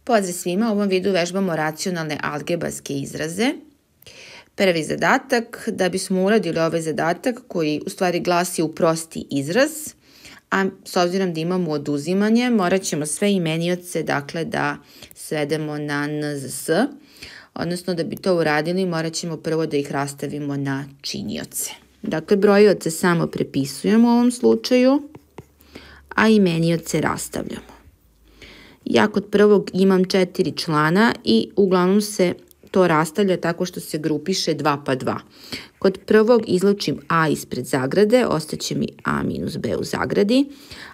Pozdrav svima, u ovom videu vežbamo racionalne algebarske izraze. Prvi zadatak, da bismo uradili ovaj zadatak koji u stvari glasi uprosti izraz, a s obzirom da imamo oduzimanje, morat ćemo sve imenioce da svedemo na NZS, odnosno da bi to uradili morat ćemo prvo da ih rastavimo na činioce. Dakle, brojioce samo prepisujemo u ovom slučaju, a imenioce rastavljamo. Ja kod prvog imam 4 člana i uglavnom se to rastavlja tako što se grupiše 2 pa 2. Kod prvog izlučim a ispred zagrade, ostaće mi a minus b u zagradi,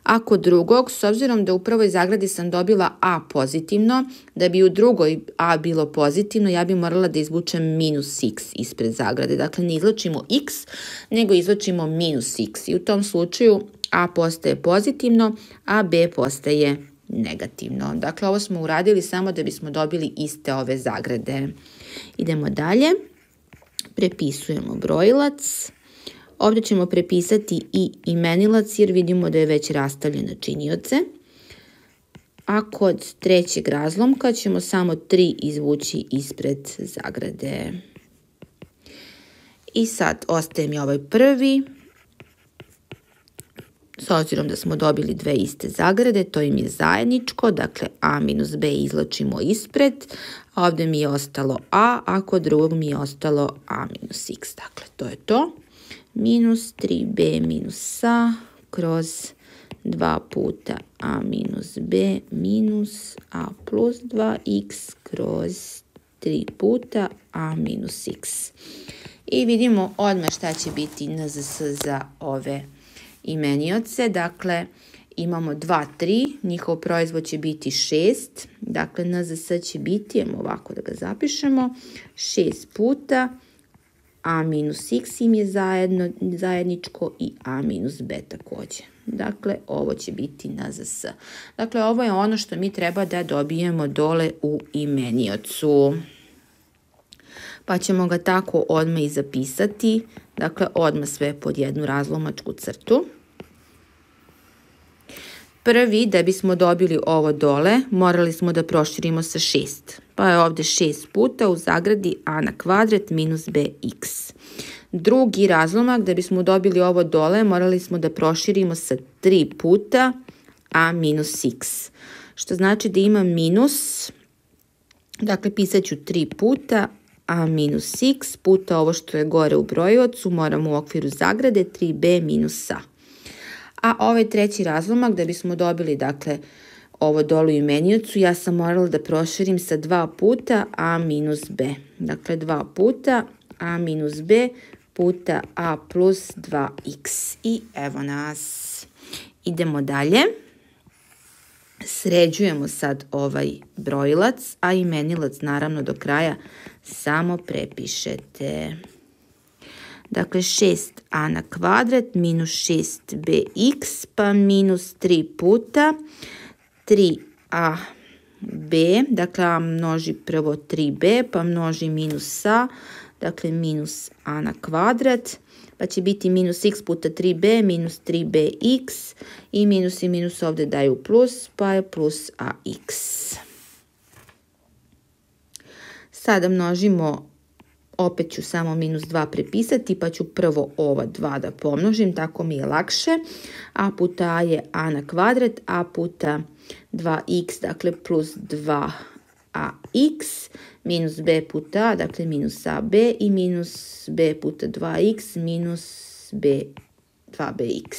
a kod drugog, s obzirom da u prvoj zagradi sam dobila a pozitivno, da bi u drugoj a bilo pozitivno, ja bi morala da izvučem minus x ispred zagrade. Dakle, ne izlučimo x, nego izlučimo minus x i u tom slučaju a postaje pozitivno, a b postaje negativno. Dakle, ovo smo uradili samo da bismo dobili iste ove zagrade. Idemo dalje. Prepisujemo brojilac. Ovdje ćemo prepisati i imenilac jer vidimo da je već rastavljen na činioce. A kod trećeg razlomka ćemo samo 3 izvući ispred zagrade. I sad ostaje mi ovaj prvi. S obzirom da smo dobili dve iste zagrade, to im je zajedničko, dakle a minus b izlačimo ispred, a ovdje mi je ostalo a kod drugog mi je ostalo a minus x. Dakle, to je to. Minus 3b minus a kroz 2 puta a minus b minus a plus 2x kroz 3 puta a minus x. I vidimo odmah šta će biti NZS za ove imenioce. Dakle, imamo 2, 3, njihov proizvod će biti 6, dakle NZS će biti, ovako da ga zapišemo, 6 puta a minus x im je zajedničko i a minus b također. Dakle, ovo će biti NZS. Dakle, ovo je ono što mi treba da dobijemo dole u imeniocu. Pa ćemo ga tako odmah i zapisati, dakle odmah sve pod jednu razlomačku crtu. Prvi, da bismo dobili ovo dole, morali smo da proširimo sa 6. Pa je ovdje 6 puta u zagradi a na kvadrat minus bx. Drugi razlomak, da bismo dobili ovo dole, morali smo da proširimo sa 3 puta a minus x. Što znači da imam minus, dakle pisat ću 3 puta a minus x puta ovo što je gore u brojiocu, moramo u okviru zagrade 3b minus a. A ovaj treći razlomak, da bismo dobili, dakle, ovo dolu u imeniocu, ja sam morala da proširim sa 2 puta a minus b. Dakle, 2 puta a minus b puta a plus 2x. I evo nas. Idemo dalje. Sređujemo sad ovaj brojilac, a imenilac naravno do kraja samo prepišete. Dakle, 6a na kvadrat minus 6bx pa minus 3 puta 3ab, dakle a množi prvo 3b pa množi minus a, dakle minus a na kvadrat, pa će biti minus x puta 3b minus 3bx i minus ovdje daju plus, pa je plus ax. Sada množimo, opet ću samo minus 2 prepisati, pa ću prvo ova 2 da pomnožim, tako mi je lakše. A puta a je a na kvadrat, a puta 2x, dakle plus 2ax, minus b puta a, dakle minus ab i minus b puta 2x minus b 2bx.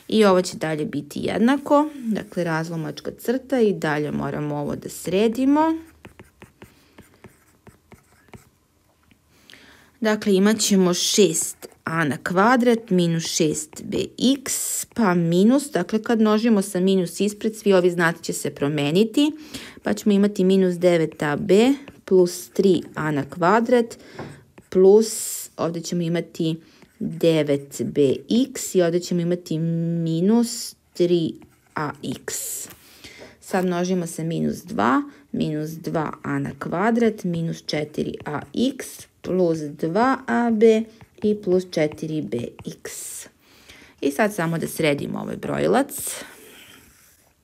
I ovo će dalje biti jednako, dakle razlomačka crta i dalje moramo ovo da sredimo. Dakle, imat ćemo 6a na kvadrat minus 6bx pa minus, dakle kad množimo sa minus ispred, svi ovi znaci će se promeniti, pa ćemo imati minus 9ab plus 3a na kvadrat plus, ovdje ćemo imati 9bx i ovdje ćemo imati minus 3ax. Sad množimo sa minus 2, minus 2a na kvadrat minus 4ax plus 2ab i plus 4bx. I sad samo da sredimo ovaj brojilac.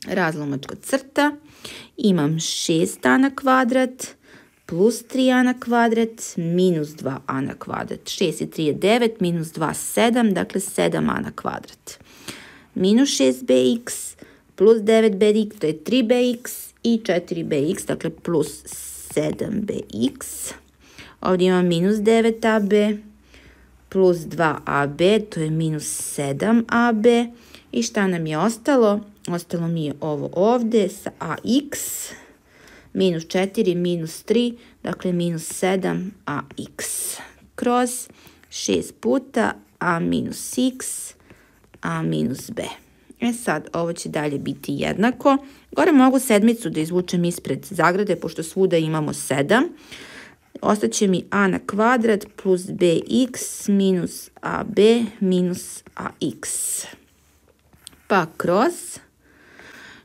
Razlomačka crta. Imam 6a na kvadrat plus 3a na kvadrat minus 2a na kvadrat. 6 i 3 je 9, minus 2 7, dakle 7a na kvadrat. Minus 6bx plus 9bx, to je 3bx i 4bx, dakle plus 7bx. Ovdje imam minus 9ab plus 2ab, to je minus 7ab. I šta nam je ostalo? Ostalo mi je ovo ovdje sa ax, minus 4, minus 3, dakle minus 7ax kroz 6 puta a minus x, a minus b. Sad, ovo će dalje biti jednako. Gore mogu sedmicu da izvučem ispred zagrade, pošto svuda imamo 7. Ostaće mi a na kvadrat plus bx minus ab minus ax. Pa kroz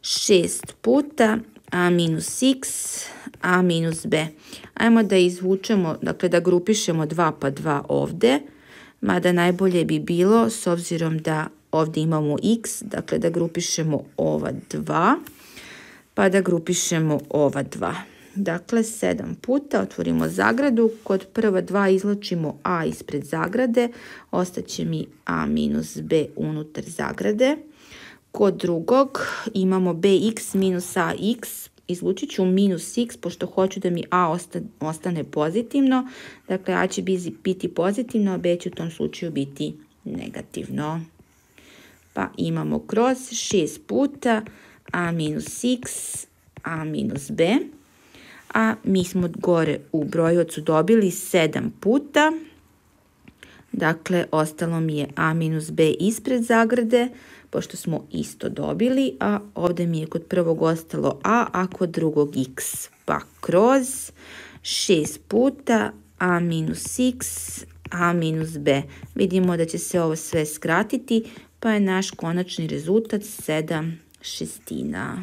6 puta a minus x, a minus b. Ajmo da izvučemo, dakle da grupišemo 2 pa 2 ovde, mada najbolje bi bilo, s obzirom da ovdje imamo x, dakle da grupišemo ova 2, pa da grupišemo ova 2. Dakle, 7 puta, otvorimo zagradu, kod prva 2 izlačimo a ispred zagrade, ostaće mi a minus b unutar zagrade. Kod drugog imamo bx minus ax, izlučit ću minus x, pošto hoću da mi a ostane pozitivno, dakle a će biti pozitivno, a b će u tom slučaju biti negativno. Pa imamo kroz 6 puta a minus x, a minus b, a mi smo gore u brojovacu dobili 7 puta, dakle ostalo mi je a minus b ispred zagrade, pošto smo isto dobili, a ovdje mi je kod prvog ostalo a kod drugog x, pa kroz 6 puta a minus x, a minus b. Vidimo da će se ovo sve skratiti, pa je naš konačni rezultat 7/6.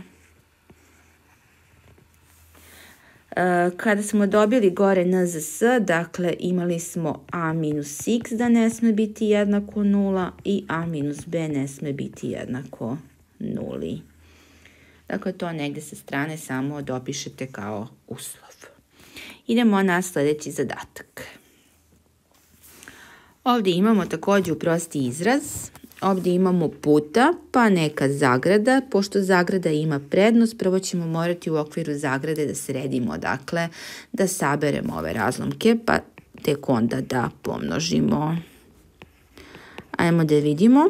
Kada smo dobili gore NZS, dakle imali smo a minus x da ne sme biti jednako 0 i a minus b ne sme biti jednako 0. Dakle, to negdje sa strane samo dopišete kao uslov. Idemo na sljedeći zadatak. Ovdje imamo također prosti izraz. Ovdje imamo puta, pa neka zagrada. Pošto zagrada ima prednost, prvo ćemo morati u okviru zagrade da sredimo, dakle, da saberemo ove razlomke, pa tek onda da pomnožimo. Ajmo da vidimo.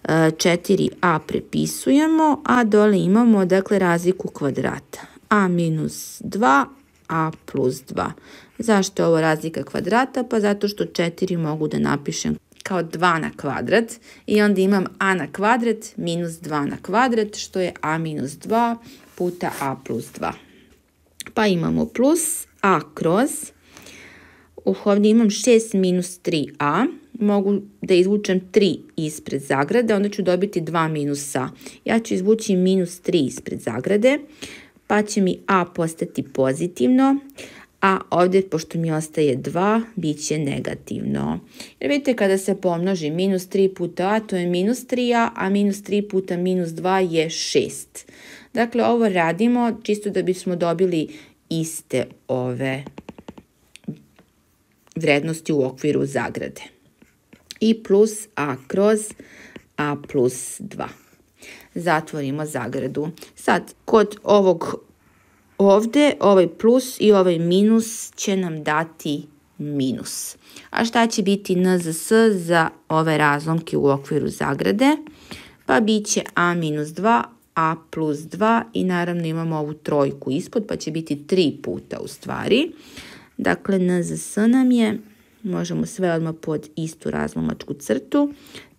4a prepisujemo, a dole imamo, dakle, razliku kvadrata. A minus 2, a plus 2. Zašto je ovo razlika kvadrata? Pa zato što 4 mogu da napišem kao 2 na kvadrat i onda imam a na kvadrat minus 2 na kvadrat, što je a minus 2 puta a plus 2. Pa imamo plus a kroz, ovdje imam 6 minus 3a, mogu da izvučem 3 ispred zagrade, onda ću dobiti 2 minus a. Ja ću izvući minus 3 ispred zagrade, pa će mi a postati pozitivno, a ovdje, pošto mi ostaje 2, bit će negativno. Jer vidite, kada se pomnoži minus 3 puta a, to je minus 3a, a minus 3 puta minus 2 je 6. Dakle, ovo radimo čisto da bismo dobili iste ove vrednosti u okviru zagrade. I plus a kroz a plus 2. Zatvorimo zagradu. Sad, kod ovog ovdje, ovaj plus i ovaj minus će nam dati minus. A šta će biti NZS za ove razlomke u okviru zagrade? Pa bit će a minus 2, a plus 2 i naravno imamo ovu trojku ispod, pa će biti 3 puta u stvari. Dakle, NZS nam je, možemo sve odmah pod istu razlomačku crtu,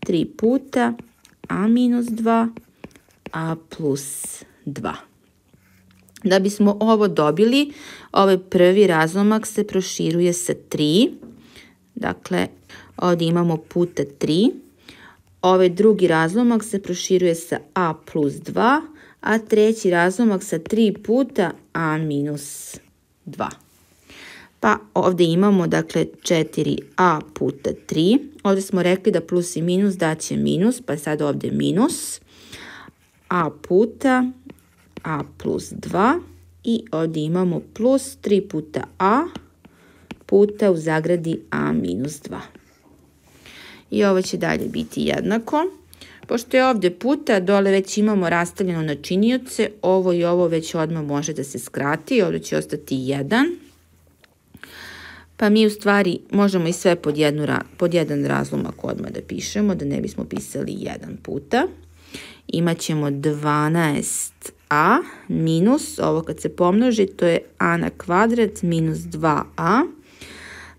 3 puta a minus 2, a plus 2. Da bismo ovo dobili, ovaj prvi razlomak se proširuje sa 3. Dakle, ovdje imamo puta 3. Ovaj drugi razlomak se proširuje sa a plus 2, a treći razlomak sa 3 puta a minus 2. Pa ovdje imamo, dakle, 4a puta 3. Ovdje smo rekli da plus i minus daće minus, pa sad ovdje minus. A puta a plus 2 i ovdje imamo plus 3 puta a puta u zagradi a minus 2. I ovo će dalje biti jednako. Pošto je ovdje puta, dole već imamo rastavljeno na činioce, ovo i ovo već odmah može da se skrati, ovdje će ostati 1. Pa mi u stvari možemo i sve pod jedan razlomak odmah da pišemo, da ne bismo pisali 1 puta. Imaćemo 12a minus, ovo kad se pomnoži, to je a na kvadrat minus 2a.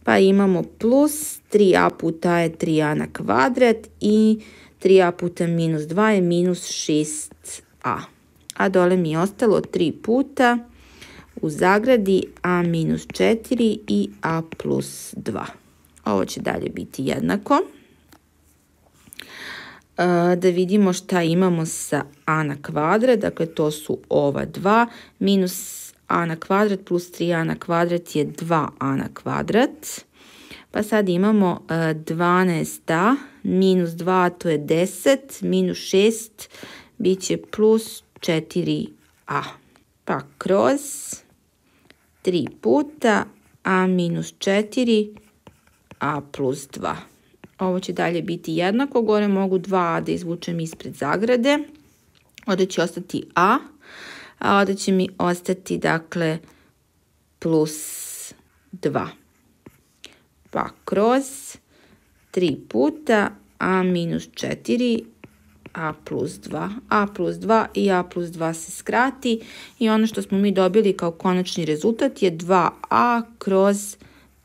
Pa imamo plus 3a puta a je 3a na kvadrat i 3a puta minus 2 je minus 6a. A dole mi je ostalo 3 puta u zagradi a minus 4 i a plus 2. Ovo će dalje biti jednako. Da vidimo šta imamo sa a na kvadrat, dakle to su ova 2, minus a na kvadrat plus 3a na kvadrat je 2a na kvadrat. Pa sad imamo 12a minus 2, to je 10, minus 6, bit će plus 4a. Pa kroz 3 puta a minus 4, a plus 2. Ovo će dalje biti jednako, gore mogu 2a da izvučem ispred zagrade. Ovdje će ostati a ovdje će mi ostati, dakle, plus 2. Pa kroz 3 puta a minus 4, a plus 2. A plus 2 i a plus 2 se skrati i ono što smo mi dobili kao konačni rezultat je 2a kroz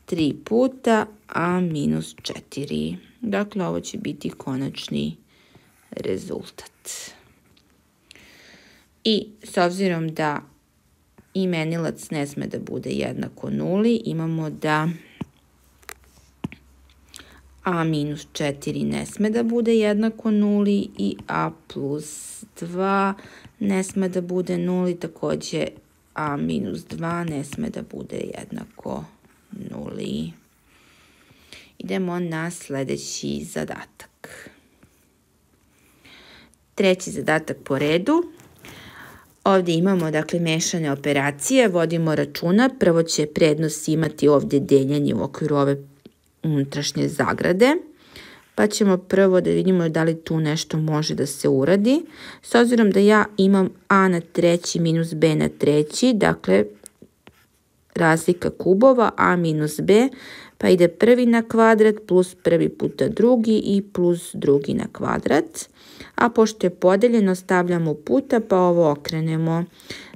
3 puta a minus 4. Dakle, ovo će biti konačni rezultat. I s obzirom da imenilac ne sme da bude jednako nuli, imamo da a minus 4 ne sme da bude jednako nuli i a plus 2 ne sme da bude nuli, također a minus 2 ne sme da bude jednako nuli. Idemo na sljedeći zadatak. Treći zadatak po redu. Ovdje imamo, dakle, mešane operacije, vodimo računa. Prvo će prednost imati ovdje deljenje u okviru ove unutrašnje zagrade. Pa ćemo prvo da vidimo da li tu nešto može da se uradi. S obzirom da ja imam a na treći minus b na treći, dakle, razlika kubova a minus b, pa ide prvi na kvadrat plus prvi puta drugi i plus drugi na kvadrat. A pošto je podeljeno, stavljamo puta pa ovo okrenemo.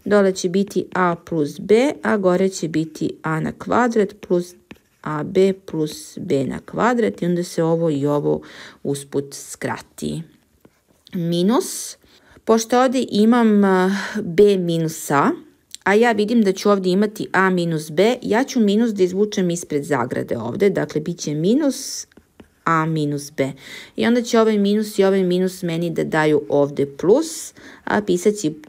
Dole će biti a plus b, a gore će biti a na kvadrat plus ab plus b na kvadrat i onda se ovo i ovo usput skrati. Minus, pošto ovdje imam b minus a ja vidim da ću ovdje imati a minus b, ja ću minus da izvučem ispred zagrade ovdje, dakle bit će minus a minus b. I onda će ovaj minus i ovaj minus meni da daju ovdje plus, a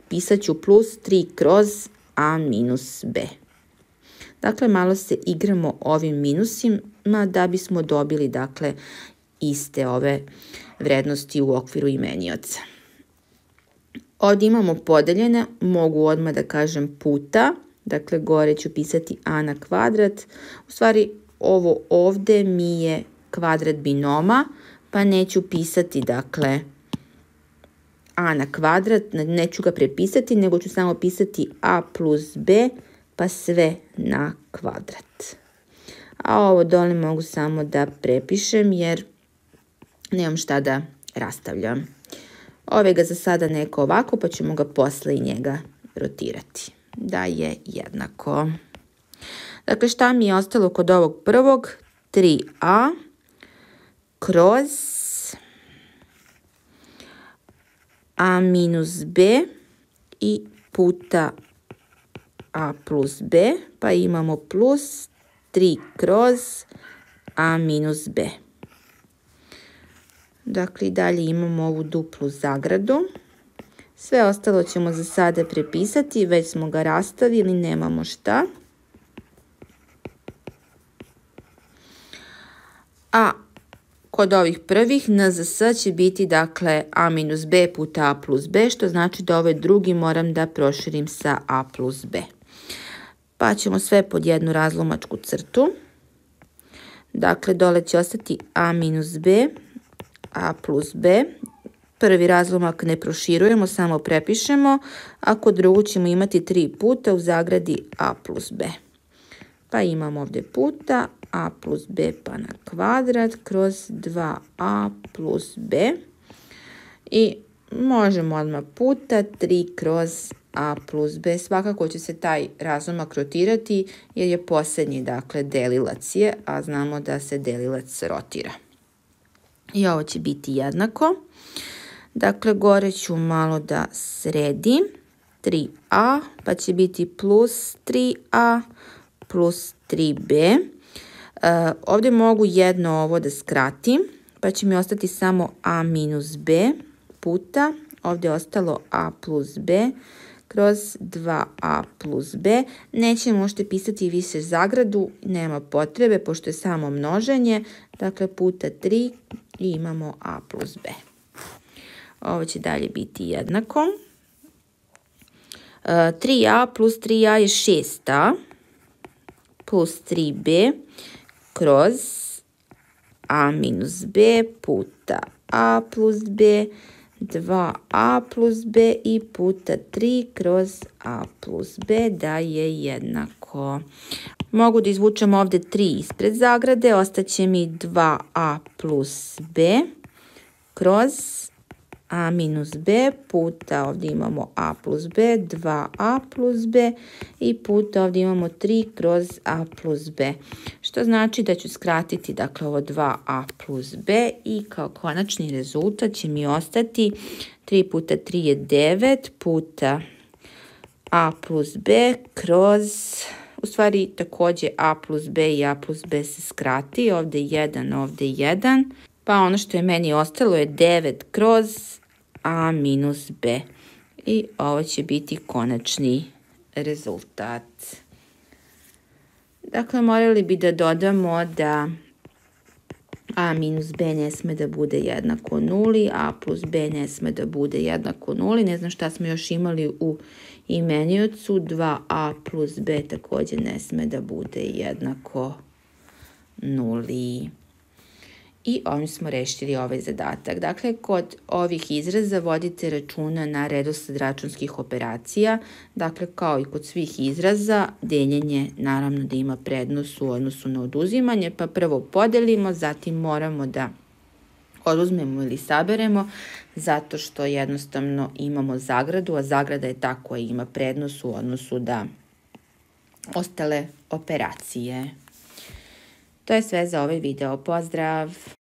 pisat ću plus 3 kroz a minus b. Dakle, malo se igramo ovim minusima da bismo dobili, dakle, iste ove vrednosti u okviru imenioca. Ovdje imamo podeljene, mogu odmah da kažem puta, dakle gore ću pisati a na kvadrat. U stvari ovo ovdje mi je kvadrat binoma, pa neću pisati, dakle, a na kvadrat, neću ga prepisati, nego ću samo pisati a plus b, pa sve na kvadrat. A ovo dole mogu samo da prepišem jer nemam šta da rastavljam. Ove ga za sada neko ovako, pa ćemo ga posle i njega rotirati. Da je jednako. Dakle, šta mi je ostalo kod ovog prvog? 3a kroz a minus b i puta a plus b, pa imamo plus 3 kroz a minus b. Dakle, i dalje imamo ovu duplu zagradu. Sve ostalo ćemo za sada prepisati, već smo ga rastavili, nemamo šta. A Kod ovih prvih NZS će biti dakle a minus b puta a plus b, što znači da ovaj drugi moram da proširim sa a plus b. Pa ćemo sve pod jednu razlomačku crtu. Dakle, dole će ostati a minus b, a plus b. Prvi razlomak ne proširujemo, samo prepišemo, a kod drugog ćemo imati 3 puta u zagradi a plus b. Pa imamo ovdje puta a plus b pa na kvadrat kroz 2a plus b. I možemo odmah puta 3 kroz a plus b. Svakako će se taj razlomak rotirati jer je posljednji, dakle, delilac je, a znamo da se delilac rotira. I ovo će biti jednako. Dakle, gore ću malo da sredim. 3a, pa će biti plus 3a plus 3b. Ovdje mogu jedno ovo da skratim, pa će mi ostati samo a minus b puta, ovdje je ostalo a plus b kroz 2a plus b. Nećemo možete pisati više zagradu, nema potrebe, pošto je samo množenje, dakle puta 3 i imamo a plus b. Ovo će dalje biti jednako. 3a plus 3a je 6a plus 3b kroz a minus b puta a plus b, 2a plus b i puta 3 kroz a plus b da je jednako. Mogu da izvučem ovdje 3 ispred zagrade, ostaće mi 2a plus b kroz a minus b puta, ovdje imamo a plus b, 2a plus b i puta ovdje imamo 3 kroz a plus b. Što znači da ću skratiti, dakle, ovo 2a plus b i kao konačni rezultat će mi ostati 3 puta 3 je 9 puta a plus b kroz, u stvari također a plus b i a plus b se skrati, ovdje 1, ovdje 1, pa ono što je meni ostalo je 9 kroz a minus b. I ovo će biti konačni rezultat. Dakle, morali bi da dodamo da a minus b ne sme da bude jednako 0, a plus b ne sme da bude jednako 0. Ne znam šta smo još imali u imeniocu. 2a plus b također ne sme da bude jednako 0. I ovim smo rešili ovaj zadatak. Dakle, kod ovih izraza vodite računa na redosled računskih operacija. Dakle, kao i kod svih izraza, deljenje naravno da ima prednost u odnosu na oduzimanje, pa prvo podelimo, zatim moramo da oduzmemo ili saberemo, zato što jednostavno imamo zagradu, a zagrada je ta koja ima prednost u odnosu da ostale operacije. To je sve za ovaj video. Pozdrav!